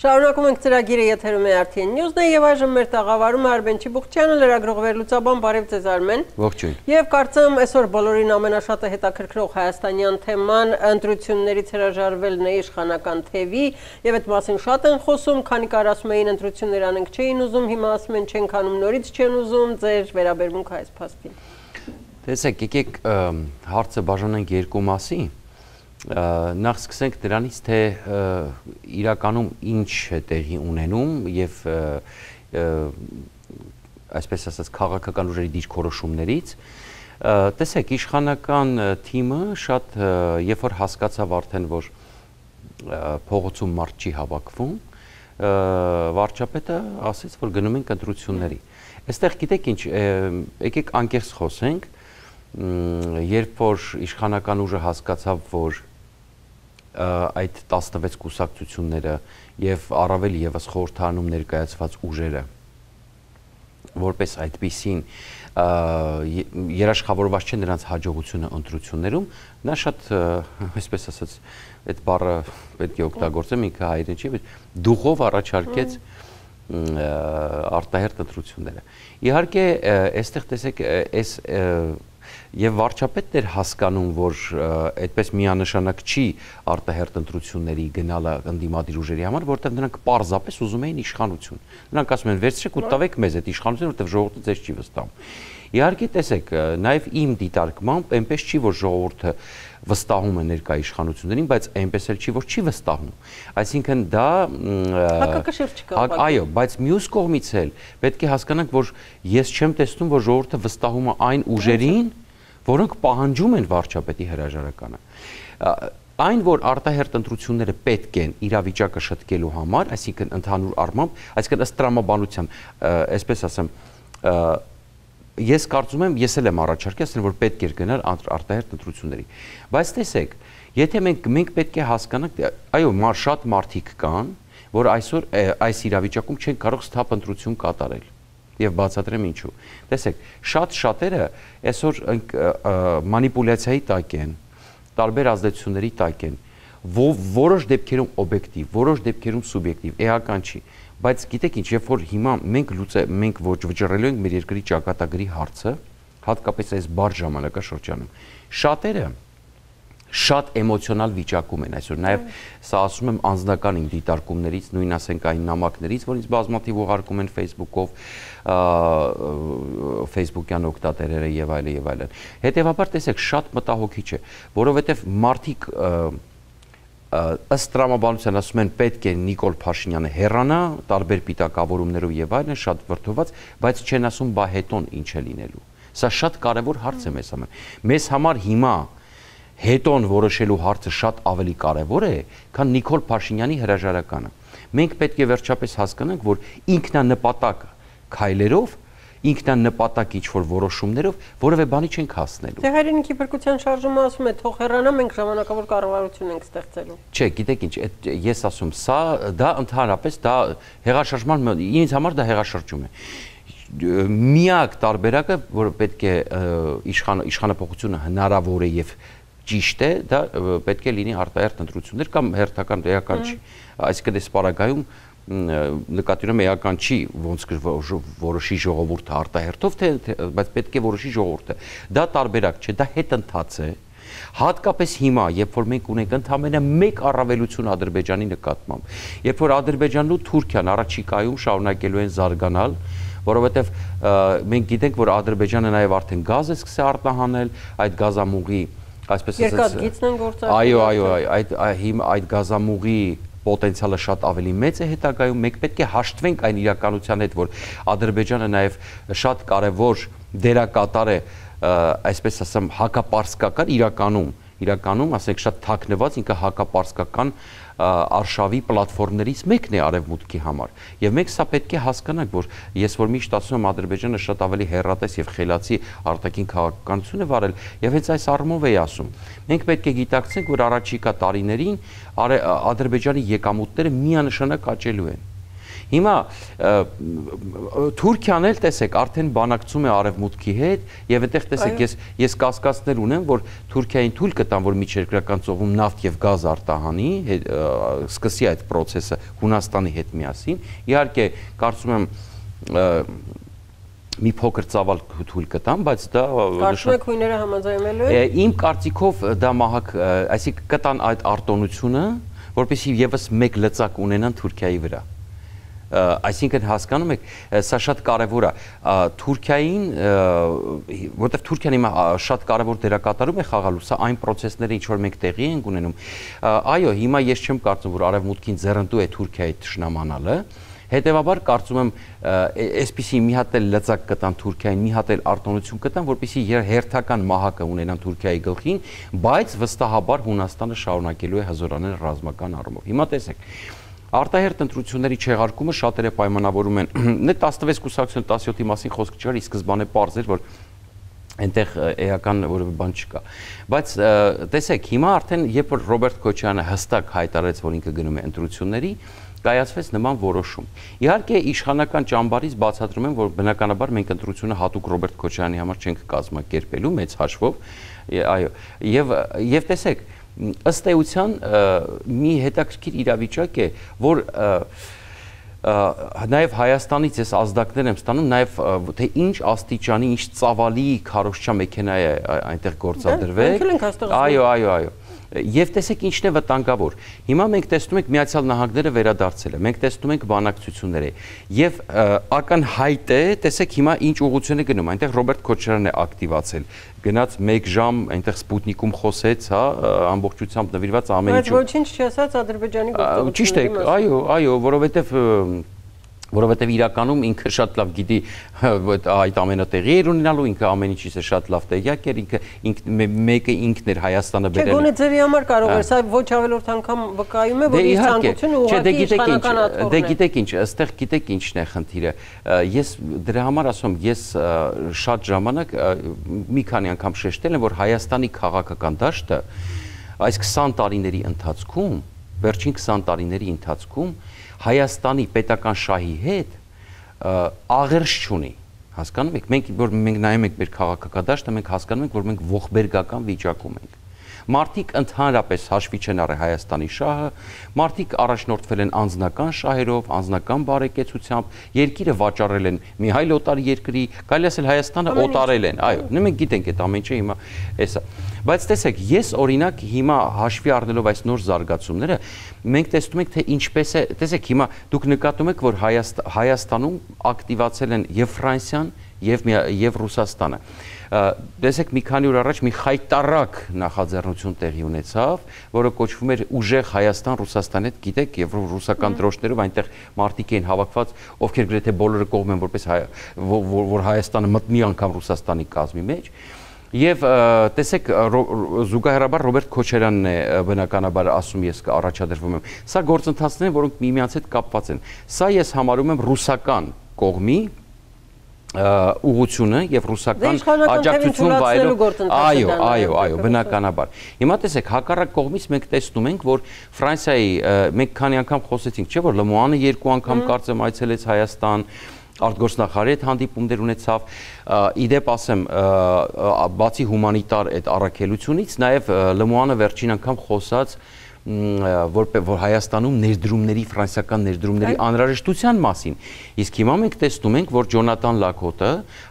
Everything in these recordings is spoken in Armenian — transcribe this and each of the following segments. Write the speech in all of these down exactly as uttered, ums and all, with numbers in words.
Շարունակում ենք ծրագիրը եթերում է Արտի N News-ն է եւ այժմ մեր տաղավարում է Արմեն Չիբուխչյանը, լրագրող վերլուծաբան, բարև ձեզ Արմեն։ Ողջույն։ Եվ կարծեմ այսօր բոլորին ամենաշատը հետաքրքրող հայաստանյան թեման ընտրություններից հրաժարվելն է իշխանական թևի եւ այդ մասին շատ են խոսում, քանի կար ասում էին ընտրություններ անենք չէին ուզում, հիմա ասում են չեն քանում, նորից չեն ուզում, ձեր վերաբերմունքը այս փաստին։ Տեսեք, եկեք հարցը բաժանենք երկու մասի։ Նախ սկսենք դրանից, թե իրականում ինչ է տեղի ունենում եւ այսպես ասած քաղաքական ուժերի դիրքորոշումներից։ Տեսեք, իշխանական թիմը շատ երբ որ հասկացավ արդեն, որ փողոցում մարդ չի հավաքվում, վարչապետը ասեց, որ գնում ենք ընտրությունների։ Այստեղ գիտեք ինչ, եկեք անկեղծ խոսենք, երբ որ իշխանական ուժը հասկացավ, որ այդ տասնվեց կուսակցությունները եւ առավել եւս խորհրդանում ներկայացված ուժերը որպես այդպիսին երաշխավորված չէ նրանց հաջողությունը ընտրություններում, նա շատ, այսպես ասած, այդ բառը պետք է օգտագործեմ, ինքը հայերեն չի, դուխով առաջարկեց արտահերթ ընտրությունները։ Իհարկե, այստեղ տեսեք, այս Եվ վարչապետն էր հասկանում, որ այդպես միանշանակ չի արտահերթ ընտրությունների գնալը ընդդիմադիր ուժերի համար, որովհետև նրանք պարզապես ուզում էին իշխանություն։ Նրանք ասում են, վերցրեք ու տվեք մեզ այդ իշխանությունը, որովհետև ժողովուրդը ձեզ չի վստահում։ Իհարկե, տեսեք, նաև իմ դիտարկմամբ այնպես չի, որ ժողովուրդը վստահում է ներկա իշխանություններին, բայց այնպես էլ չի, որ չի վստահում։ Այսինքն դա հակակշիռ չկա։ Այո, բայց մյուս կողմից էլ պետք է հասկանանք, որ ես չեմ տեսնում, որ ժողովուրդը վստահում է այն ուժերին, որոնք պահանջում են վարչապետի հրաժարականը։ Այն, որ արտահերթ ընտրությունները պետք են իրավիճակը շտկելու համար, այսինքն ընդհանուր առմամբ, այսինքն ըստ տրամաբանության, այսպես ասեմ, ես կարծում եմ, ես էլ եմ առաջարկել, ասել որ պետք էր գնալ արտահերթ ընտրությունների։ Բայց տեսեք, եթե մենք մենք պետք է հասկանանք, այո, շատ մարդիկ կան, որ այսօր այս իրավիճակում չեն կարող սթափ ընտրություն կատարել։ Եվ բացատրեմ ինչու։ Տեսեք, շատ շատերը այսօր մանիպուլյացիայի տակ են, տարբեր ազդեցությունների տակ են, որոշ դեպքերում օբյեկտիվ, որոշ դեպքերում սուբյեկտիվ, էական չի, բայց գիտեք ինչ, երբ որ հիմա մենք լուծե մենք ոչ վճռելու ենք մեր երկրի ճակատագրի հարցը, հատկապես այս բարդ ժամանակաշրջանում, շատերը շատ էմոցիոնալ վիճակում են այսօր, նաև սա ասում եմ անձնական իմ դիտարկումներից, նույն ասենք այն նամակներից, որ ինձ բազմաթիվ ուղարկում են Facebook-ով, Facebook-յան օգտատերերը եւ այլն եւ այլն։ Հետևաբար տեսեք, շատ մտահոգիչ է, որովհետեւ մարդիկ ըստ տրամաբանության ասում են պետք է Նիկոլ Փաշինյանը հեռանա, տարբեր պիտակավորումներով եւ այլն, շատ վրդոված, բայց չեն ասում բա հետոն ինչ է լինելու։ Սա շատ կարեւոր հարց է մեզ համար։ Մեզ համար հիմա հետոն որոշելու հարցը շատ ավելի կարևոր է, քան Նիկոլ Փաշինյանի հրաժարականը։ Մենք պետք է վերջապես հասկանանք, որ ինքնանպատակ քայլերով, ինքնանպատակ ինչ-որ որոշումներով որևէ բանի չենք հասնելու։ Դե հայրենիքի փրկության շարժումը ասում է, թող հեռանա, մենք ժամանակավոր կառավարություն ենք ստեղծելու։ Չէ, գիտեք ինչ, ես ասում, սա դա ընդհանրապես դա հեղաշրջման, ինձ համար դա հեղաշրջում է։ Միակ տարբերակը, որ պետք է իշխանափոխությունը հնարավոր է եւ ճիշտ է, դա պետք է լինի արտահերթ ընտրություններ կամ հերթական էական չի։ Այսինքն այս պարագայում նկատի ունեմ էական չի, ոնց որոշի ժողովուրդը արտահերթով, թե բայց պետք է որոշի ժողովուրդը։ Դա տարբերակ չէ, դա հետընթաց է։ Հատկապես հիմա, երբ որ մենք ունենք ընդամենը մեկ առավելություն Ադրբեջանի նկատմամբ, երբ որ Ադրբեջանն ու Թուրքիան առաջիկայում շարունակելու են զարգանալ, որովհետև մենք գիտենք, որ Ադրբեջանը նաև արդեն գազ է սկսել արտահանել, այդ գազամուղի այսպես ասած երկաթգիծն են գործարկել։ Այո, այո, այդ այդ գազամուղի պոտենցիալը շատ ավելի մեծ է հետագայում, մենք պետք է հաշտվենք այն իրականության հետ, որ Ադրբեջանը նաև շատ կարևոր դերակատար է, այսպես ասեմ, հակապարսկական իրականում, իրականում, ասենք շատ թաքնված, ինքը հակապարսկական արշավի պլատֆորմներից մեկն է արևմուտքի համար։ Եվ մենք սա պետք է հասկանանք, որ ես որ միշտ ասում եմ Ադրբեջանը շատ ավելի հեռատես եւ խելացի արտաքին քաղաքականություն է վարել, եւ հենց այս առումով էի ասում։ Մենք պետք է գիտակցենք, որ առաջիկա տարիներին Ադրբեջանի եկամուտները միանշանակ աճելու են։ Հիմա Թուրքիան էլ տեսեք, արդեն բանակցում է արևմուտքի հետ եւ այդտեղ տեսեք, ես ես կասկածներ ունեմ, որ Թուրքիային թույլ կտան, որ միջերկրական ծովում նավթ եւ գազ արտահանի, սկսի այդ process-ը Հունաստանի հետ միասին։ Իհարկե, կարծում եմ մի փոքր ծավալ թույլ կտան, բայց դա Կարծում եք հույները համաձայնվելու են։ Իմ կարծիքով դա մահակ, այսինքն կտան այդ արտոնությունը, որպեսզի եւս մեկ լծակ ունենան Թուրքիայի վրա։ Այսինքն հասկանում եք, սա շատ կարևոր է Թուրքիային, որտեղ Թուրքիան հիմա շատ կարևոր դերակատարում է խաղալու, սա այն process-ները, ինչ որ մենք տեղի ենք ունենում։ Այո, հիմա ես չեմ կարծում, որ արևմուտքին ձեռնտու է Թուրքիայի թշնամանալը։ Հետևաբար կարծում եմ այսպիսի մի հատ էլ լծակ կտան Թուրքիային, մի հատ էլ արտոնություն կտան, որպեսզի հերթական մահակը ունենան Թուրքիայի գլխին, բայց վստահաբար Հունաստանը շարունակելու է հզորանել ռազմական առումով։ Հիմա տեսեք, արտահերթ ընտրությունների չեղարկումը շատերը պայմանավորում են, նե տասնվեց կուսակցություն տասնյոթի մասին խոսք չկար, ի սկզբանե պարզ էր, որ այնտեղ էական որևէ բան չկա։ Բայց տեսեք, հիմա արդեն երբ որ Ռոբերտ Քոչարյանը հստակ հայտարարեց, որ ինքը գնում է ընտրությունների, կայացվեց նման որոշում։ Իհարկե իշխանական ճամբարից բացատրում են, որ բնականաբար մենք ընտրությունը հատուկ Ռոբերտ Քոչարյանի համար չենք կազմակերպելու մեծ հաշվով, այո, եւ եւ տեսեք, ըստ էության մի հետաքրքիր իրավիճակ է, որ նաև Հայաստանից ես ազդակներ եմ ստանում, նաև թե ինչ աստիճանի, ինչ ծավալի քարոզչա մեքենա է այնտեղ գործադրվել։ Այո, այո, այո։ Եվ տեսեք ինչն է վտանգավոր։ Հիմա մենք տեսնում ենք Միացյալ Նահանգները վերադարձել է, մենք տեսնում ենք բանակցությունները եւ ակնհայտ է, տեսեք հիմա ինչ ուղղություն է գնում, այնտեղ Ռոբերտ Քոչարյանն է ակտիվացել, գնաց մեկ ժամ այնտեղ Սպուտնիկում խոսեց, հա, ամբողջությամբ նվիրված ամեն ինչ։ Բայց ոչինչ չասաց Ադրբեջանի գործողությունների մասին։ Ճիշտ է, այո, այո, որովհետեւ որովհետև իրականում ինքը շատ լավ գիտի այդ ամենը տեղի էր ունենալու, ինքը ամեն ինչից է շատ լավ տեղյակ էր, ինքը մեկը ինքն էր Հայաստանը բերել։ Չէ, գոնե ձևի համար կարող էր, սա ոչ ավելորդ անգամ վկայում է, որ իր ցանկությունը ուղղակի իշխանական աթոռն է։ Դե գիտեք ինչ, ըստեղ գիտեք ինչն է խնդիրը։ Ես դրա համար ասում, ես շատ ժամանակ մի քանի անգամ շեշտել եմ, որ Հայաստանի քաղաքական դաշտը այս քսան տարիների ընթացքում, վերջին քսան տարիների ընթացքում Հայաստանի պետական շահի հետ աղերս չունի, հասկանում եք, մենք որ մենք նայում ենք մեր քաղաքական դաշտը, մենք հասկանում ենք, որ մենք ողբերգական վիճակում ենք։ Մարդիկ ընդհանրապես հաշվի չեն առել Հայաստանի շահը, մարդիկ առաջնորդվել են անձնական շահերով, անձնական բարեկեցությամբ, երկիրը վաճառել են մի այլ օտար երկրի, կարելի ասել Հայաստանը օտարել են, այո, մենք գիտենք այդ ամեն ինչը հիմա էսա։ Բայց տեսեք, ես օրինակ հիմա հաշվի առնելով այս նոր զարգացումները, մենք տեսնում ենք, թե ինչպես է, տեսեք, հիմա դուք նկատում եք, որ Հայաստանում ակտիվացել են եւ Ֆրանսիան, եւ եւ Ռուսաստանը։ Տեսեք, մի քանի օր առաջ մի խայտարակ նախաձեռնություն տեղի ունեցավ, որը կոչվում էր Ուժեղ Հայաստան-Ռուսաստան հետ, գիտեք, եւ ռուսական դրոշներով այնտեղ մարդիկ էին հավաքված, ովքեր գրեթե բոլորը կողմ են, որպես որ Հայաստանը մտնի անգամ Ռուսաստանի կազմի մեջ։ Եվ տեսեք, զուգահեռաբար Ռոբերտ Քոչարյանն է բնականաբար ասում, ես առաջադրվում եմ։ Սա գործընթացներ են, որոնք միմյանց հետ կապված են։ Սա ես համարում եմ ռուսական կողմի ուղղությունը եւ ռուսական աջակցություն վայելող, այո, այո, այո, բնականաբար։ Հիմա տեսեք, հակառակ կողմից մենք տեսնում ենք, որ Ֆրանսիայի մենք քանի անգամ խոսեցինք, չէ՞ որ Լմոյանը երկու անգամ կարծեմ այցելեց Հայաստան, արտգործնախարարի հետ հանդիպումներ ունեցավ, իդեպ ասեմ, բացի հումանիտար այդ առաքելությունից, նաև Լմոյանը վերջին անգամ խոսած որ որ Հայաստանում ներդրումների, ֆրանսիական ներդրումների անհրաժեշտության մասին։ Իսկ հիմա մենք տեսնում ենք, որ Ջոնատան Լակոտը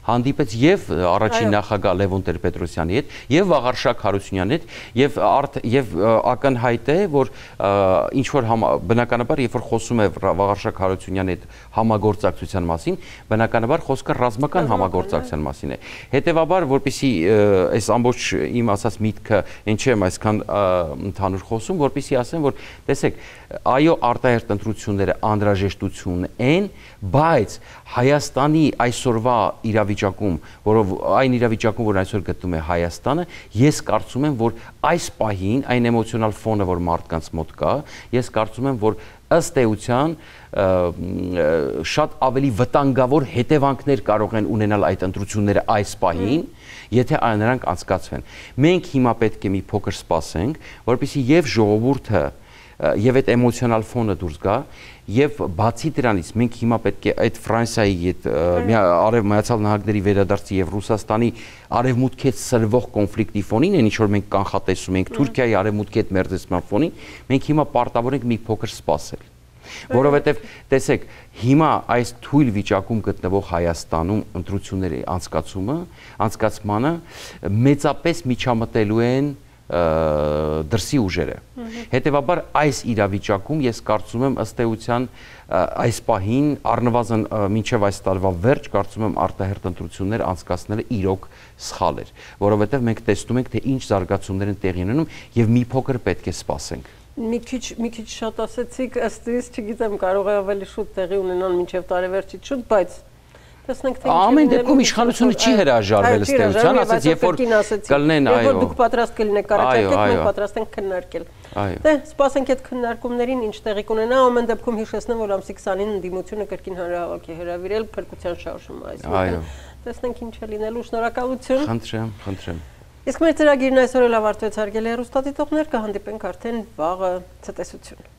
հանդիպեց եւ առաջին նախագահ Լևոն Տեր-Պետրոսյանի հետ, եւ Վաղարշակ Հարությունյանի հետ, եւ եւ ակնհայտ է, որ ինչ որ բնականաբար, երբ որ խոսում է Վաղարշակ Հարությունյանի հետ համագործակցության մասին, բնականաբար խոսքը ռազմական համագործակցության մասին է։ Հետևաբար, որպեսզի այս ամբողջ իմ ասած միտքը ինչ եմ այսքան ընդհանուր խոսում, որ Պիսի ասեմ, որ տեսեք, այո, արտահերթ ընտրությունները անհրաժեշտություն են, բայց Հայաստանի այսօրվա իրավիճակում, որով այն իրավիճակում, որ այսօր գտնում է Հայաստանը, ես կարծում եմ, որ այս պահին այն էմոցիոնալ ֆոնը, որ մարդկանց մոտ կա, ես կարծում եմ, որ ըստ էության շատ ավելի վտանգավոր հետևանքներ կարող են ունենալ այդ ընտրությունները այս պահին, եթե նրանք անցկացվեն։ Մենք հիմա պետք է մի փոքր սպասենք, որպեսզի եւ ժողովուրդը եւ այդ էմոցիոնալ ֆոնը դուրս գա եւ բացի դրանից մենք հիմա պետք է այդ Ֆրանսիայի այդ արև Միացյալ Նահանգների վերադարձի եւ Ռուսաստանի արևմուտքից սրվող կոնֆլիկտի ֆոնին, այն ինչ որ մենք կանխատեսում ենք Թուրքիայի արևմուտքի հետ մերձեցման ֆոնին, մենք հիմա պարտավոր ենք մի փոքր սպասել։ Որովհետև տեսեք, հիմա այս թույլ վիճակում գտնվող Հայաստանում ընտրությունների անցկացումը, անցկացմանը մեծապես միջամտելու են դրսի ուժերը։ Հետևաբար այս իրավիճակում ես կարծում եմ ըստ էության այս պահին առնվազն մինչև այս տարվա վերջ կարծում եմ արտահերթ ընտրություններ անցկացնելը իրոք սխալ էր, որովհետև մենք տեսնում ենք թե ինչ զարգացումներ են տեղի ունենում եւ մի փոքր պետք է սպասենք։ Մի քիչ մի քիչ շատ ասեցիք, ըստ իս, չգիտեմ, կարող է ավելի շուտ տեղի ունենան մինչև տարեվերջից շուտ, բայց տեսնենք թե ինչ։ Ամեն դեպքում իշխանությունը չի հրաժարվել ըստ էության, ասած երբ որ կլինեն, այո։ Երբ որ դուք պատրաստ կլինեք առաջարկեք, մենք պատրաստ ենք քննարկել։ Դե, սպասենք այդ քննարկումներին ինչ տեղի կունենա, ամեն դեպքում հիշեցնեմ, որ ամսի քսանին ընդդիմությունը կրկին հանրահավաք է հրավիրել փրկության շարժումը, այսինքն տեսնենք ինչ է լինելու, շնորհակալություն։ Խնդրեմ, խնդրեմ։ Իսկ մեր ծրագիրն այսօր էլ ավարտվեց, հարգելի հեռուստադիտողներ, կհանդիպենք արդեն վաղը ցտեսություն։